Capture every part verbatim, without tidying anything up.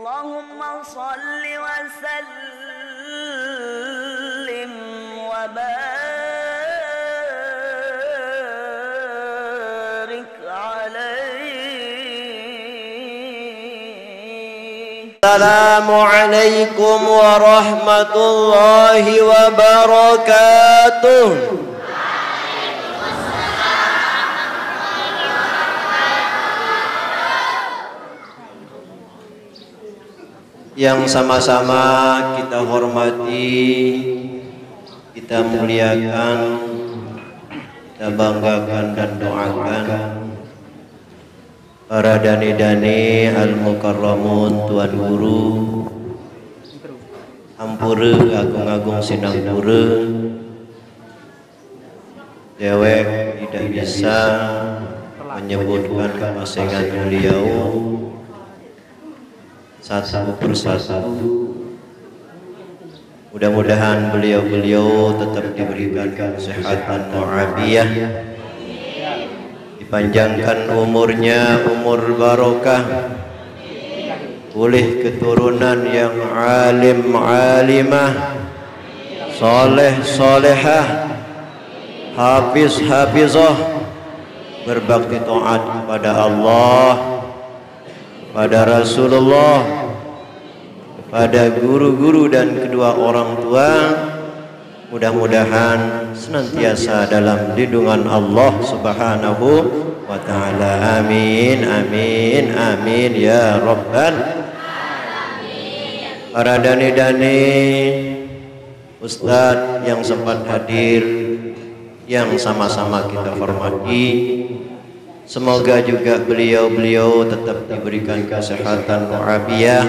اللهم صل وسلم وبارك عليه. السلام عليكم ورحمة الله وبركاته. Yang sama-sama kita hormati, kita muliakan, kita banggakan dan doakan para dane-dane al-mukarramun, Tuan Guru, ampura agung-agung sinampura. Dewek tidak bisa menyebutkan kemasengan beliau satu persatu. Mudah-mudahan beliau-beliau tetap diberikan kesehatan mu'afiyah, dipanjangkan umurnya, umur barokah, oleh keturunan yang alim alimah, soleh solehah, hafiz hafizah, berbakti taat kepada Allah, kepada Rasulullah, kepada guru-guru dan kedua orang tua. Mudah-mudahan senantiasa dalam lindungan Allah Subhanahu wa taala. Amin, amin, amin ya rabbal. Para dane-dane, ustadz yang sempat hadir, yang sama-sama kita hormati, semoga juga beliau-beliau tetap diberikan kesehatan mu'afiyah,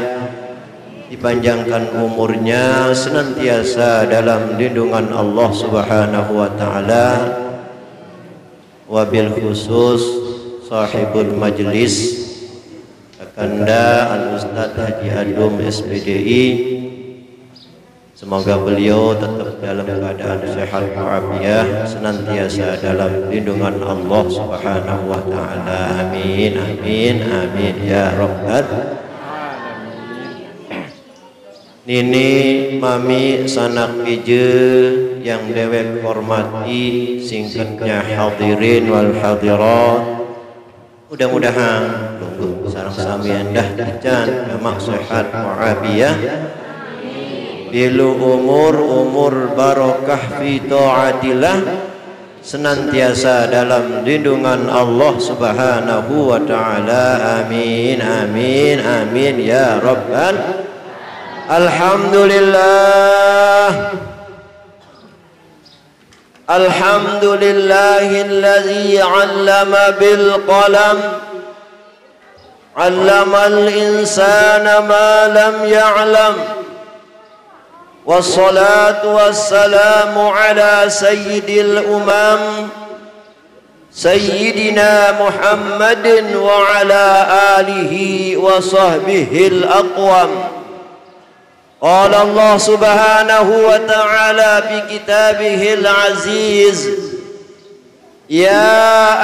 dipanjangkan umurnya, senantiasa dalam lindungan Allah Subhanahu wa taala. Wabil khusus sahibul majlis, Kakanda Al Ustadz Haji Adum, S P D I. Semoga beliau tetap dalam keadaan sehat walafiat, senantiasa dalam lindungan Allah Subhanahu wa taala. Amin, amin, amin ya rabbal. Nini, mami, sanak pije yang dewek hormati, singkatnya hadirin wal hadirat. Mudah-mudahan lungguh sareng sami endah tican, gamaq sehat walafiat. Pilu umur, umur barokah fi taatillah, senantiasa dalam lindungan Allah Subhanahu wa taala. Amin, amin, amin ya rabbal. Alhamdulillah. Alhamdulillahilladzi 'allama bil qalam, 'allamal insana ma lam ya'lam. Wassalatu wassalamu ala sayyidil umam, sayyidina Muhammadin wa ala alihi wa sahbihil aqwam. Qala Allah Subhanahu wa ta'ala fi kitabihil aziz, "Ya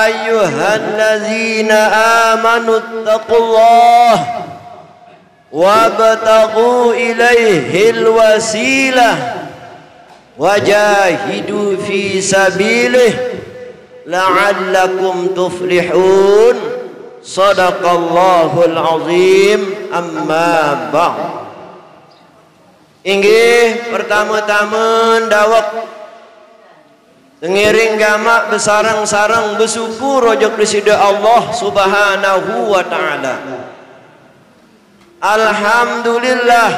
ayyuhalladzina amanu taqullaha wabtaghu ilaihil wasilah wajahidu fi sabilih la'allakum tuflihun." Sadaqallahul azim. Amma ba'd. Inggih, pertama-tama dawek ngiring gamaq besareng-sareng besyukur ojok Deside Allah Subhanahu wa taala. Alhamdulillah,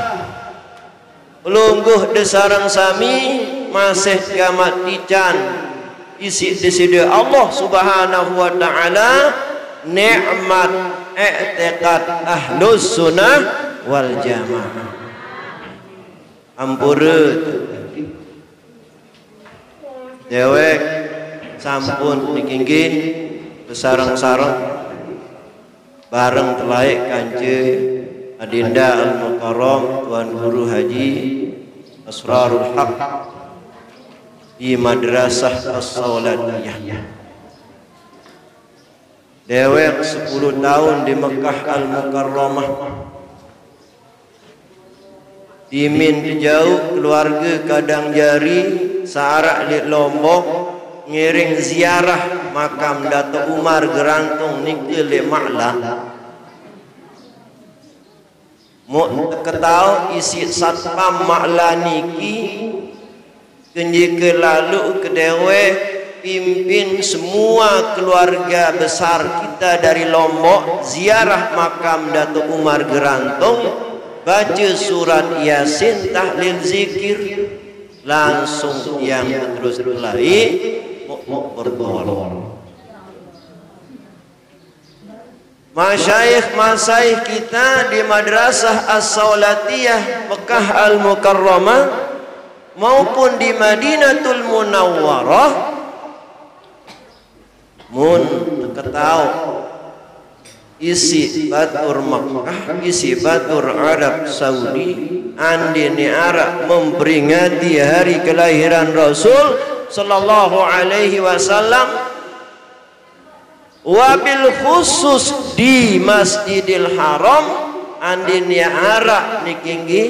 lungguh desareng sami masih gamaq tican isiq Deside Allah Subhanahu wa taala, nikmat i'tiqad Ahlus Sunnah wal Jamaah. Ampura. Dewek sampun niki nggih besareng-sareng bareng telaeq kance Adinda Al Mukarram Tuan Guru Haji Asrarul Haq di Madrasah As-Saulatiyah. Dewek sepuluh taun di Mekah Al Mukarramah. Dimin tejauh keluarge Kadang Jari, searaq leq Lombok, ngiring ziarah makam Datuk Umar Gerantong nike leq Maqlah. Muq teketaoq isiq satpam Maqlah niki, kenjeke laluq ke dewek, pimpin semua keluarga besar kita dari Lombok ziarah makam Datuk Umar Gerantong, bace surat Yasin, tahlil, zikir, langsung tiang beterus belai, muq, muq bertolong. Masyaikh-masyaikh kita di Madrasah As-Saulatiyah Mekah Al-Mukarramah maupun di Madinatul Munawwarah, mun teketaoq isiq batur Mekah, isiq batur Arab Saudi, andin ne araq memperingati hari kelahiran Rasul sallallahu alaihi wasallam, wabil khusus di Masjidil Haram, andin ne araq niki nggih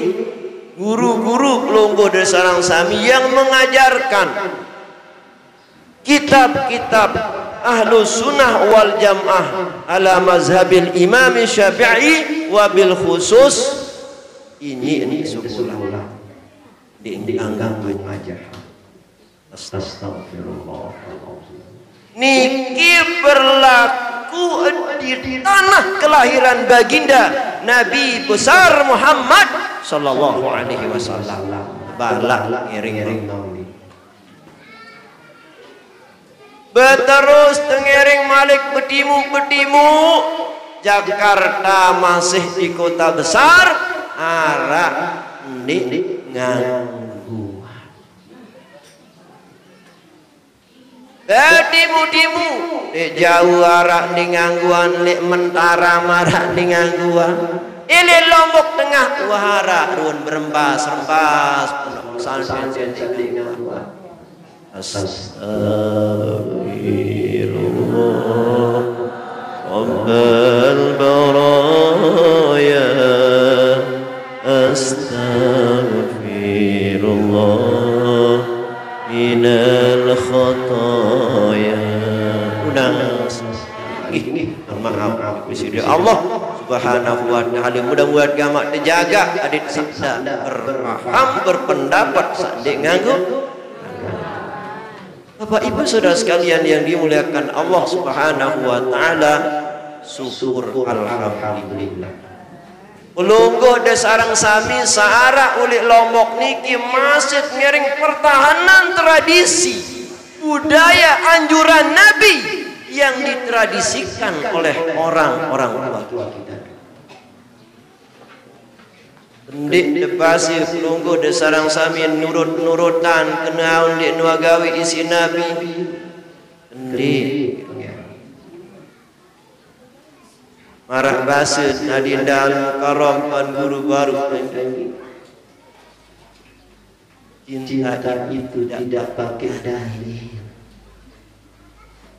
guru-guru pelungguh de sareng sami yang mengajarkan kitab-kitab Ahlus Sunnah wal Jamaah ala mazhabil Imam Syafi'i, wabil khusus ini, ini sekolah di Anggang aja. Astagfirullah. Niki berlaku di tanah kelahiran Baginda Nabi besar Muhammad sallallahu alaihi wasallam. Balaq ngiring-ngiring. Beterus tengiring malik betimuq-betimuq, Jakarta masih di kota besar, araq ndeq ngangguan. Betimuq-timuq, leq Jawe araq ndeq ngangguan, leq Mataram araq ndeq ngangguan. Eh, leq Lombok Tengah, wah, araq ruen berembas-rembas pondok pesantren ndeq ngangguan. Astagfirullah Rabbal baraya, astagfirullah minal khataya. Unas. Nggih, nggih. Maaf, Gusti Allah Subhanahu wa Ta'ala. Mudah-mudahan gamaq tejagaq adeq saq ndeq berpaham, berpendapat saq ndeq nganggo. Bapak Ibu Saudara sekalian yang dimuliakan Allah Subhanahu wa Ta'ala, syukur alhamdulillah. Pelungguh de sareng sami saq araq uleq Lombok niki masih ngiring pertahanan tradisi budaya anjuran Nabi yang ditradisikan oleh orang-orang tua kita. Ndeq de base pelungguh de sareng sami nurut-nurutan kenaon ndeq nuagawi isiq Nabi. Ndeq. Maraq base Nadine Al Mukarramah, Tuan Guru baruq, cinta itu tidak pakai dalil.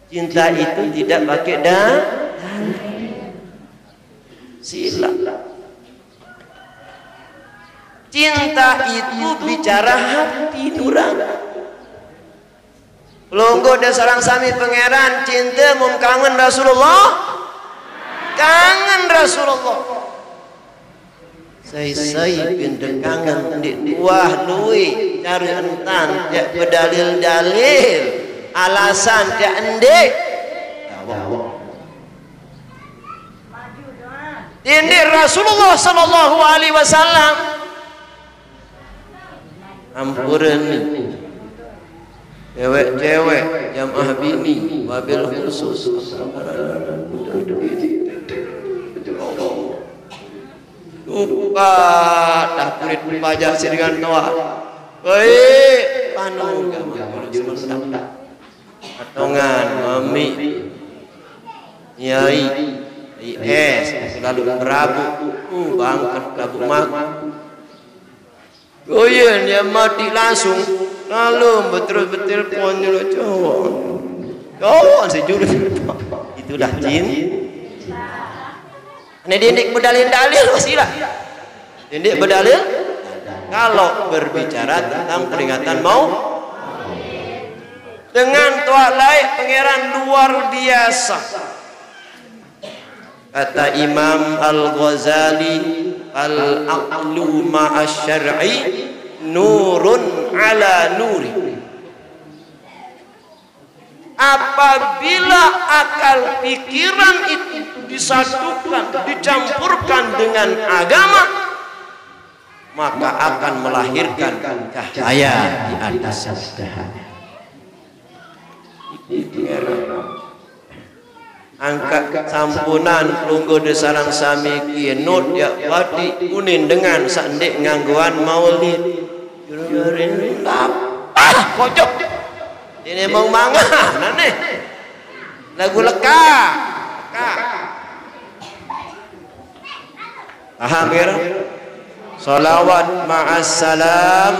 Cinta itu tidak pakai da-, dalil. Silaq. Cinta itu bicara hati nurani. Pelungguh de sareng sami, Pangeran, cinte mun kangen Rasulullah? Kangen Rasulullah. Sai-sai pinte kangen ndeq uah lueq care entan, tiaq bedalil-dalil, alasan tiaq ndeq. Tindik Rasulullah sallallahu alaihi wasallam. Ampure ni. Cewek-cewek, jamaah bini, wabil khusus. Tumpah dah kulit pajak sing dengan toaq. Woi, panu gamaq. Potongan, mamiq, nyai, I S, selalu berabuk, uh, bangket berabuk mak. Oh iya, dia mati langsung, lalu beterus betelpon dulu cowok. Cowok sejurus. Itulah jin. Ini dindik bedalil-dalil, wasilah. Dindik bedalil. kalau berbicara tentang peringatan mau, dengan tuak lain Pangeran luar biasa. Kata Imam Al-Ghazali, "Al-aqlu ma'asy syar'i nurun ala nuri." Apabila akal pikiran itu disatukan, dicampurkan dengan agama, maka akan melahirkan cahaya di atas cahaya. Angkat sampunan pelungguh di sarang sami kinut ya wati kuning dengan sandik ngangguan maulid. Ah, kocok. Ini mau mangan, aneh. Lagu leka. Leka. Paham ya? Salawat ma'as salam.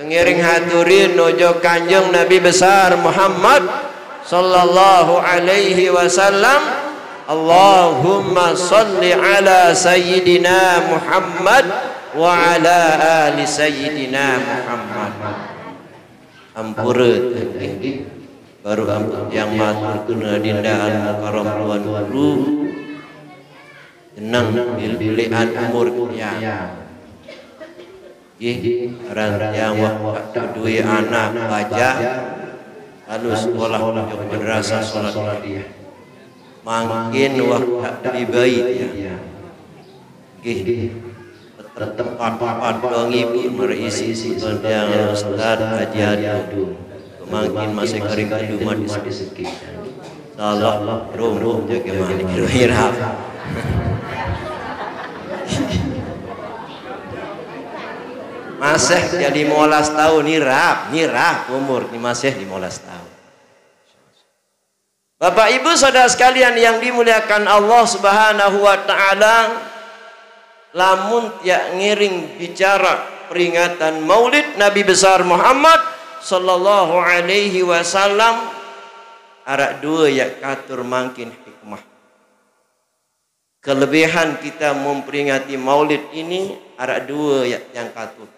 Tengiring haturin nuju Kanjeng Nabi besar Muhammad sallallahu alaihi wasallam. Allahumma salli ala sayyidina Muhammad wa ala ali sayyidina Muhammad. Ampura tengking. Baru ampun yang matur tuna dinda anu mukarram tuan guru. Jeneng bil-, bilian umur ya. Gih, aran tiang wak duwe anak baja, lalu sekolah di madrasah salat. Mangkin wak dibai ya. Gih, tetep pat-pat dong ibu merisi tiang Ustaz Haji Adu. Mangkin masih kering kedu mati sakit. Salah, rum, rum, jaga mani, kira-kira. Masih jadi lima belas tahun, nirap, nirap umur, ni masih lima belas tahun. Bapak Ibu saudara sekalian yang dimuliakan Allah Subhanahu wa Ta'ala, lamun tiak ngiring bicara peringatan Maulid Nabi besar Muhammad sallallahu alaihi wasallam, arak dua ya katur mangkin hikmah. Kelebihan kita memperingati Maulid ini arak dua ya yang katur.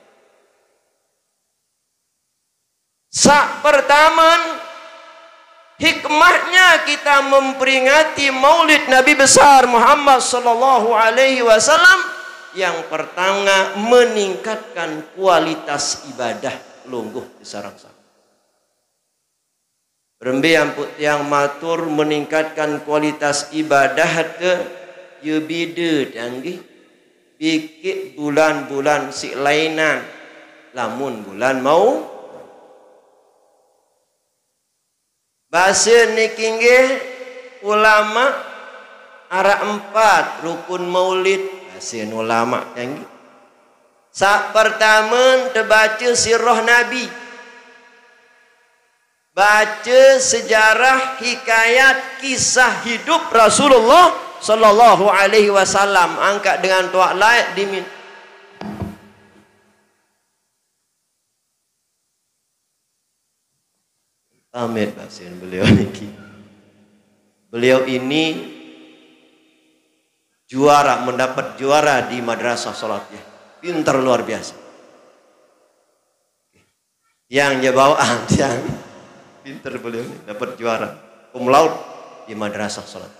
Sak pertaman, hikmahnya kita memperingati Maulid Nabi besar Muhammad sallallahu alaihi wasallam, yang pertama meningkatkan kualitas ibadah lungguh di sarang-sarang. Rembe ampun tiang matur meningkatkan kualitas ibadah ke, ye bida tiang gih. Bikik bulan-bulan si lainan. Lamun bulan mau. Basa niki nggih ulama arak empat rukun maulid. Basa ulama tiang gih. Sak pertama tebaca sirah Nabi. Baca sejarah hikayat kisah hidup Rasulullah sallallahu alaihi wasallam. Angkat dengan tuak laik dimin. Amit basin beliau niki. Beliau ini juara, mendapat juara di madrasah salat ya. Pintar luar biasa. Yang dia bawaan, yang pinter beliau ini dapat juara cum laude di madrasah salat.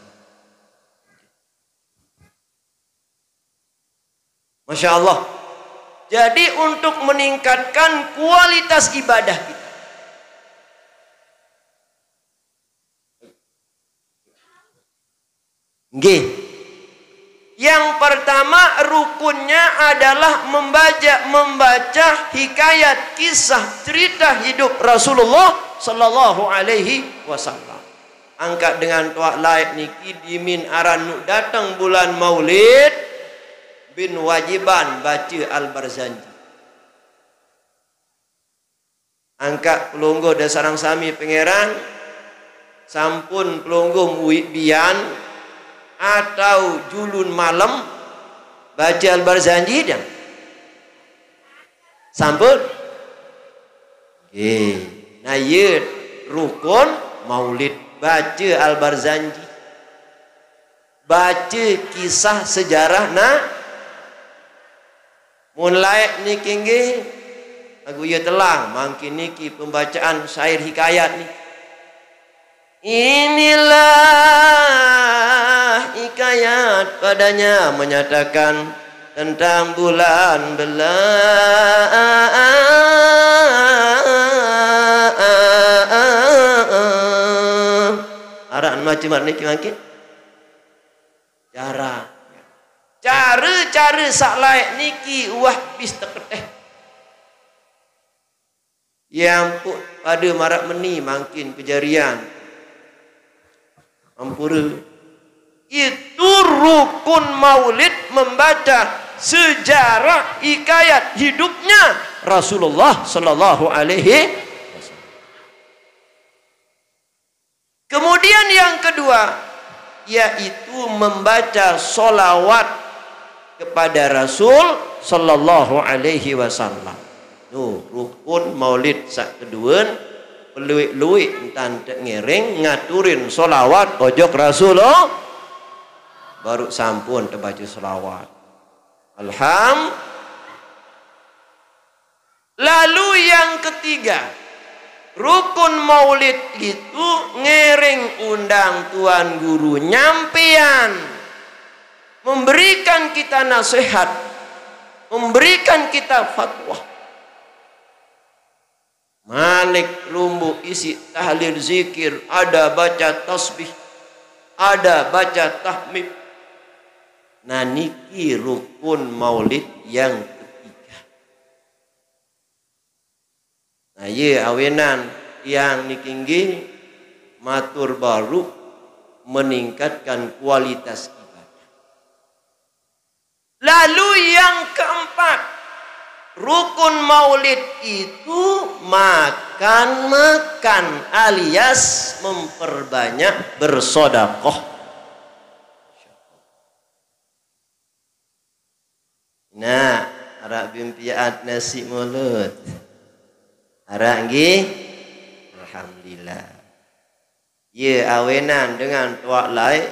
Masya Allah. Jadi untuk meningkatkan kualitas ibadah kita. Nggih. Yang pertama rukunnya adalah membaca, membaca hikayat kisah cerita hidup Rasulullah sallallahu alaihi wasallam. Angkat dengan tuak laik niki dimin aran nu datang bulan Maulid bin wajiban baca Al-Barzanji. Angkat pelungguh dan sarang sami Pangeran, sampun pelungguh muwi bian atau julun malam baca Al-Barzanji dang? Sampun? Nggih. Nah, ye rukun maulid baca Al-Barzanji. Baca kisah sejarah na Mun laék niki nggih, lagu ieu telah mangkin niki pembacaan syair hikayat niki. Inilah hikayat padanya menyatakan tentang bulan belang. Araq macem niki mangkin? Cara. Cara-cara saq laéq niki uwah bis teketeh. Ye ampuq pade maraq meni mangkin kejarian. Ampure. Itu rukun maulid membaca sejarah hikayat hidupnya Rasulullah sallallahu alaihi wasallam. Kemudian yang kedua, yaitu membaca solawat kepada Rasul sallallahu alaihi wasallam. Nuh, rukun maulid saq keduen, peluiq-luiq entan teq ngiring ngaturin solawat ojok Rasul. Oh, baru sampun tebaca solawat. Alham. Lalu yang ketiga, rukun maulid itu ngiring undang Tuan Guru nyampean, memberikan kita nasihat, memberikan kita fatwa. Malik lumbu isi tahlil zikir, ada baca tasbih, ada baca tahmid. Nah, niki rukun maulid yang ketiga. Nah, ye awenan tiang niki nggih matur baruq meningkatkan kualitas ibadah. Lalu yang keempat, rukun maulid itu makan-makan alias memperbanyak bersodakoh. Nah, araq bimpiat nasi mulut. Araq nggih? Alhamdulillah. Ye awenan dengan toaq laeq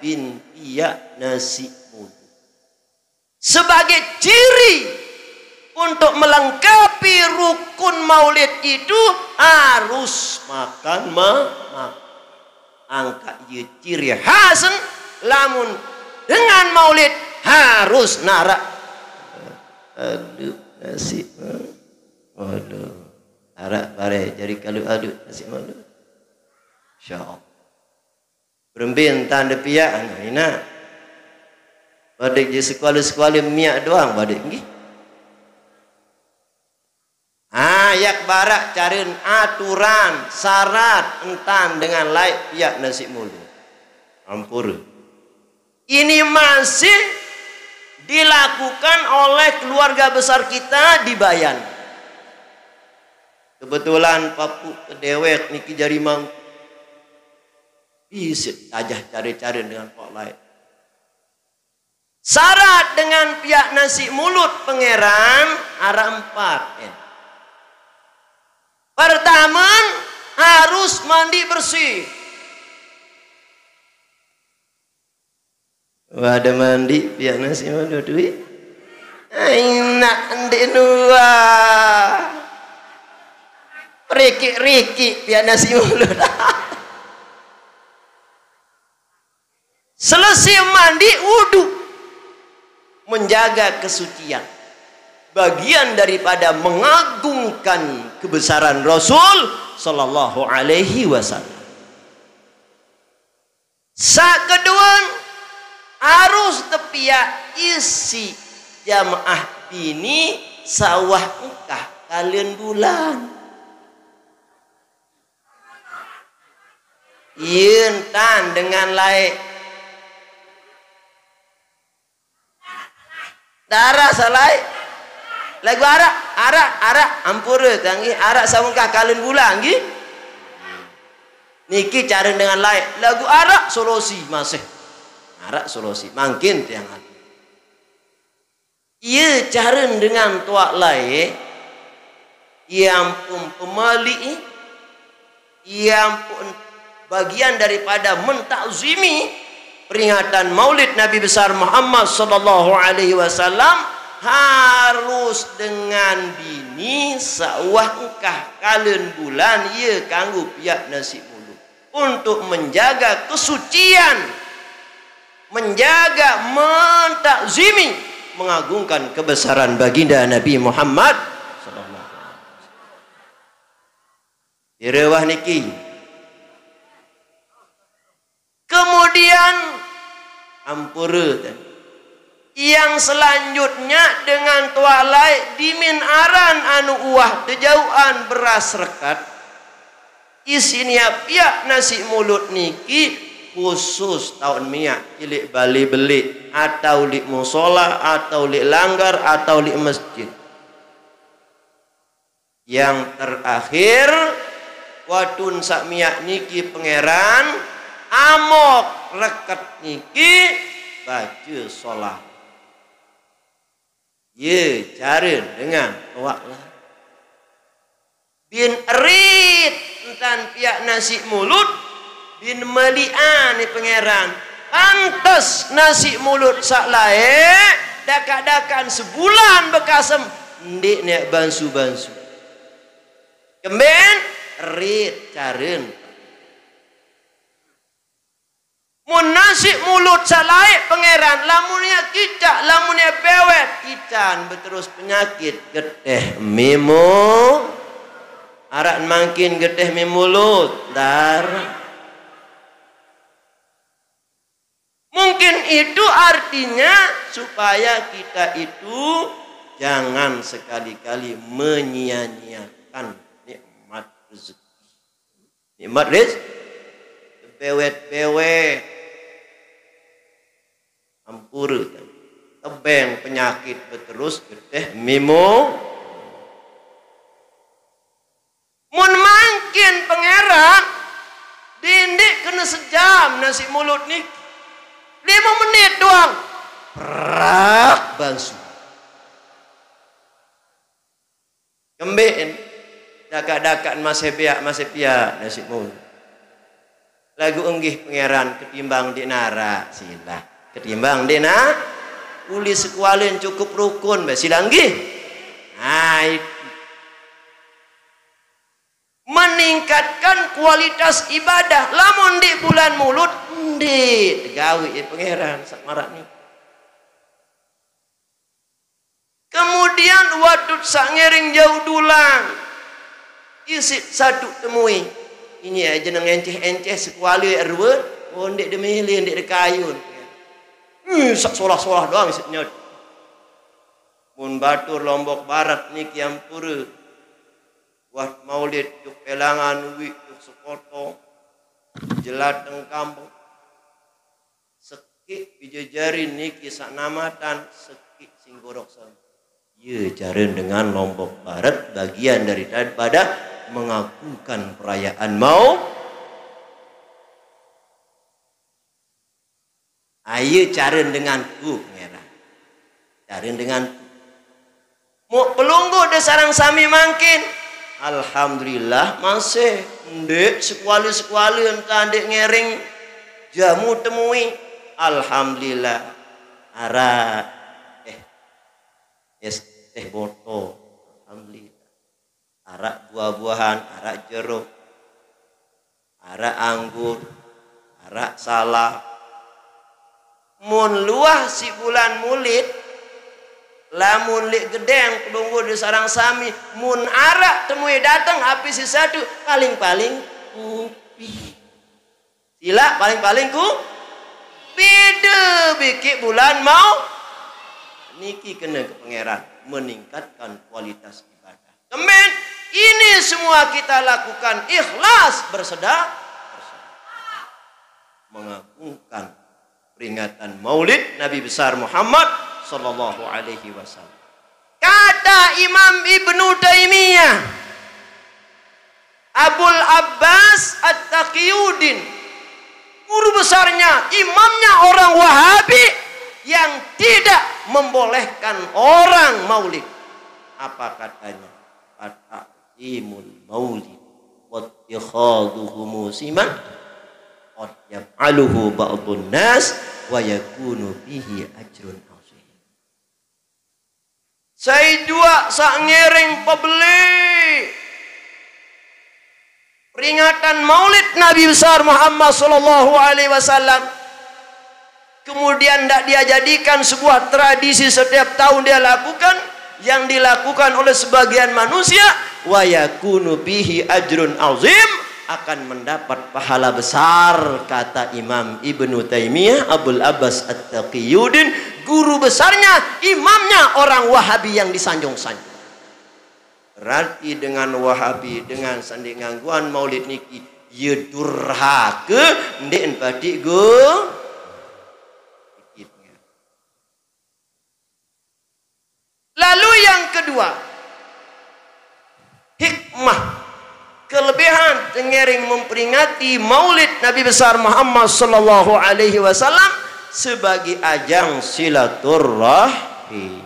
bimpiat nasi mulut. Sebagai ciri untuk melengkapi rukun maulid itu harus makan ma-, makan. Angkaq ye ciri khasn, lamun dengan maulid harus naraq. Aduh, nasib. Waduh. Araq bare jari kalu aduh nasib maulid. Insyaallah. Berembe entan de piaq, nah, inaq. Badeq je sekuale-sekuale miaq doang badeq, nggih. Ayak baraq caren aturan, syarat entan dengan laeq piaq nasib mulut. Ampure. Ini masih dilakukan oleh keluarga besar kita di Bayan. Kebetulan papuq kedewek niki jari mang-, bisit tajah care-care dengan toaq laeq. Syarat dengan piaq nasi mulut Pangeran araq empat, en. Pertame, harus mandi bersih. Wah, de mandi piaq nasi mulut, wi. Inaq ndeq nuah. Rikik-rikik piaq nasi mulut. Selesai mandi, wudu. Menjaga kesucian. Bagian daripada mengagungkan kebesaran Rasul sallallahu alaihi wasallam. Saq keduen, harus tepiaq isi jamaah bini saq uwah engkah kalen bulan. Ie entan dengan laeq. Darah salai. Lagu araq, araq, araq, ampure, kangge araq saq wengkah kalen bulan, nggih. Niki care dengan laeq. Lagu araq solusi masih. Araq solusi. Mangkin tiang ati. Ie care dengan toaq laeq. Ie ampun pemaliq, ie ampun bagian daripada mentakzimi peringatan Maulid Nabi besar Muhammad sallallahu alaihi wasallam. Harus dengan bini sa'wah engkah kalen bulan, ye kanggo piak nasi mulud. Untuk menjaga kesucian, menjaga, mentakzimi, mengagungkan kebesaran baginda Nabi Muhammad sallallahu alaihi wasallam. Di rewah niki. Kemudian, ampura, yang selanjutnya dengan tualai dimin aran anu uwah tejauhan beras rekat. Isin ya piak nasi mulud niki khusus taun miak, cilik bali belik, atau lik musola, atau lik langgar, atau lik masjid. Yang terakhir, wadun sak miak niki pangeran, amok reket niki baca solah. Ye, cara dengan awak lah. Bin erit entan piak nasi mulud, bin melian ni pangeran. Pantes nasi mulud sak lae, dakak-dakan sebulan bekasem, ndik nek bansu-bansu. Kemben, erit caren. Mun nasi mulud salae pangeran, lamun ya kicak, lamun ya bewet, ican beterus penyakit geteh mimo. Arak mangkin geteh mimulud, dar. Mungkin itu artinya supaya kita itu jangan sekali-kali menyia-nyiakan nikmat rezeki. Nikmat rezeki. Bewet-bewet. Ampura. Tebeng penyakit beterus geteh mimo. Mun mangkin pangeran, dindik kena sejam nasi mulud ni. Lima menit doang. Prak bansu. Kemben. Dakak-dakak masih piak, masih piak nasi mulud. Lagu enggih pangeran ketimbang di nara, silah. Ketimbang di na, uli sekualin cukup rukun, be silah enggih. Nah, itu. Meningkatkan kualitas ibadah. Lamun di bulan mulud, ndik tegawi ya pangeran sak marak ni. Kemudian wadut sak ngiring jauh dulang. Isit satu temui. Ini aja nang enceh-enceh sekuali erwe. Oh, ndik demilih, ndik dekayun. Ih, sak solah-solah doang isit nyot. Mun batur Lombok Barat niki ampura. Wah maulid juk pelangan wi juk sekoto. Jelateng kampung. Sekik pijejarin niki sak namatan sekik singgorok sam. Ye, caren dengan Lombok Barat bagian daripada mengagungkan perayaan mau. Aye caren denganku, pangeran. Caren denganku. Mau pelungguh de sarang sami mangkin. Alhamdulillah masih. Ndik sekuali-sekuali entah ndik ngering jamu temui. Alhamdulillah. Arak. Eh. Es teh botol. Alhamdulillah. Arak buah-buahan, arak jeruk, arak anggur, arak salak. Mun luah si bulan mulid, lamun lik gedeng pelungguh di sarang sami, mun arak temui dateng api si satu, paling-paling kupi. Sila paling-paling ku beda bikik bulan mau niki kena ke pangeran meningkatkan kualitas ibadah. Kemen ini semua kita lakukan ikhlas bersedekah, mengagungkan peringatan Maulid Nabi besar Muhammad sallallahu alaihi wasallam. Kata Imam Ibnu Taimiyah, Abul Abbas At-Taqiyuddin, guru besarnya, imamnya orang Wahabi yang tidak membolehkan orang maulid. Apa katanya? Ta'zimul maulid wattikhadhuhu musiman qad yaf'aluhu ba'dun nas wa yakunu bihi ajrun azim. Sai juaq saq ngiring pebeli peringatan Maulid Nabi besar Muhammad sallallahu alaihi wasallam, kemudian ndak dia jadikan sebuah tradisi setiap tahun dia lakukan, yang dilakukan oleh sebagian manusia, wa yakunu bihi ajrun azim, akan mendapat pahala besar, kata Imam Ibnu Taimiyah Abul Abbas At-Taqiyuddin, guru besarnya, imamnya orang Wahabi yang disanjung-sanjung. Berarti dengan Wahabi, dengan saq ndeq ngangguang maulid niki, ye durhake, ndeq patik go. Lalu yang kedua, hikmah, kelebihan tengiring memperingati Maulid Nabi besar Muhammad sallallahu alaihi wasallam sebagai ajang silaturrahim.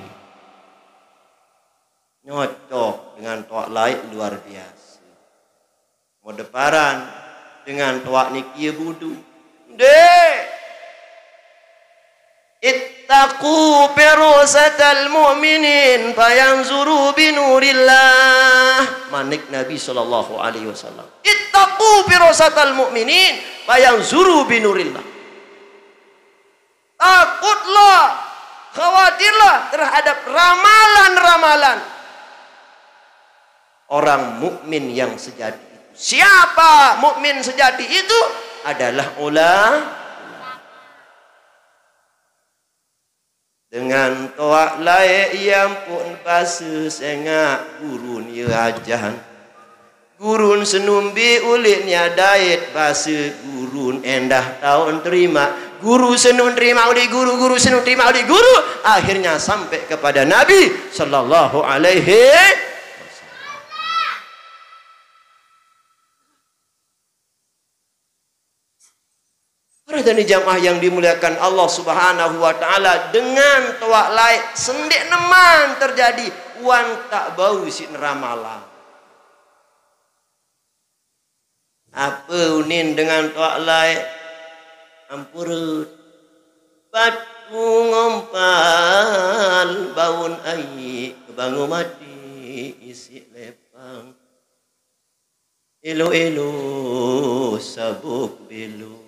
Nyocok dengan toaq laeq luar biase. Modeparan dengan toaq niki ye budu. Ndeq. Ittaqu firasatal mu'minin fayanzuru binurillah. Manik Nabi sallallahu alaihi wasallam. Ittaqu firasatal mu'minin fayanzuru binurillah. Takutlah, khawatirlah terhadap ramalan-ramalan orang mukmin yang sejati itu. Siapa mukmin sejati itu? Adalah ulama. Dengan toaq laeq ye ampoq base sengaq gurun ye ajan. Gurun senumbi uleq niat dait base gurun endah taoq terimaq. Guru senun terimaq uleq guru, guru senun terimaq uleq guru. Akhirnya sampai kepada Nabi sallallahu alaihi wasallam. Para hadirin jamaah yang dimuliakan Allah Subhanahu wa taala, dengan toaq laeq sendeq neman terjadi wantaq bau siq neramalang. Ape unin dengan toaq laeq? Ampurut. Batu ngompal baun aiq, kebangu mati isiq lepang. Elo-elo sabuk belo.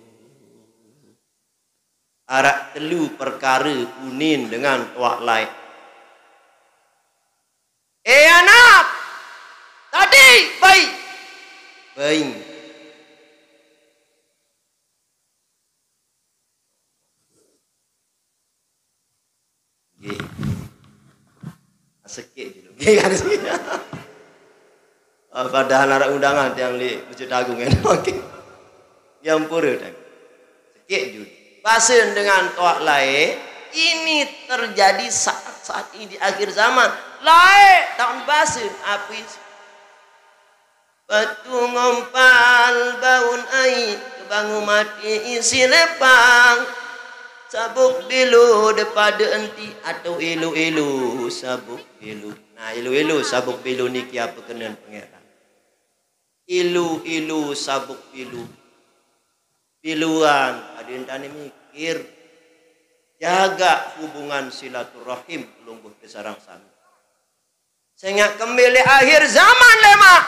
Araq telu perkare unin dengan toaq laeq. Eh, anak! Tadi, baik. Baik. Nggih. Sekeq julu. Nggih, kan? Ah, padahal araq undangan tiang leq Masjid Agung, kan? Oke. Yang pura, kan? Sekeq julu. Basen dengan toaq laeq, ini terjadi saat-saat ini di akhir zaman. Laeq taoqn basen, ape isiq? Batu ngompal baun aiq, kebangu mati isiq lepang. Sabuk belo de pade enti atau elo-elo sabuk belo. Nah, elo-elo sabuk belo niki ape kenen Pangeran? Elo-elo sabuk belo. Beloan, adeqn tani mikir. Jagaq hubungan silaturahim pelungguh tesareng sami. Sengaq kembe leq akhir zaman lemaq,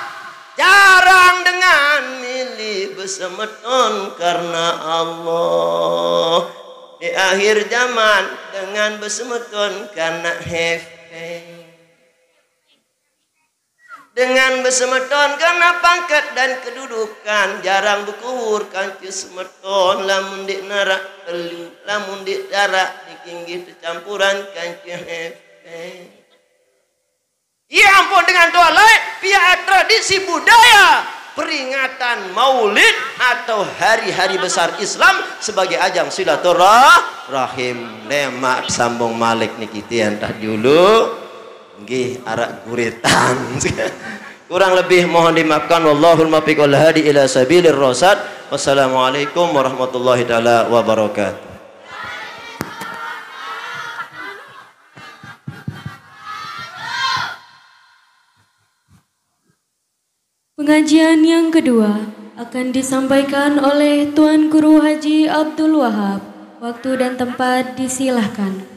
jarang dengan mele besemeton karena Allah. Leq akhir zaman dengan besemeton karena hepeng. Dengan besemeton karena pangkat dan kedudukan, jarang bekuwur kance semeton lamun ndeq naraq telu, lamun ndeq naraq niki nggih tecampuran kance hepeng. Ie ampoq dengan toaq laeq piaq tradisi budaya peringatan Maulid atau hari-hari besar Islam sebagai ajang silaturahim. Lemaq sambung malik niki tiang tah julu. Nggih, araq guritan. Kurang lebih mohon dimaafkan. Wallahul muwaffiq wal hadi ila sabilir rasyad. Wassalamualaikum warahmatullahi taala wabarakatuh. Pengajian yang kedua akan disampaikan oleh Tuan Guru Haji Abdul Wahab. Waktu dan tempat disilahkan.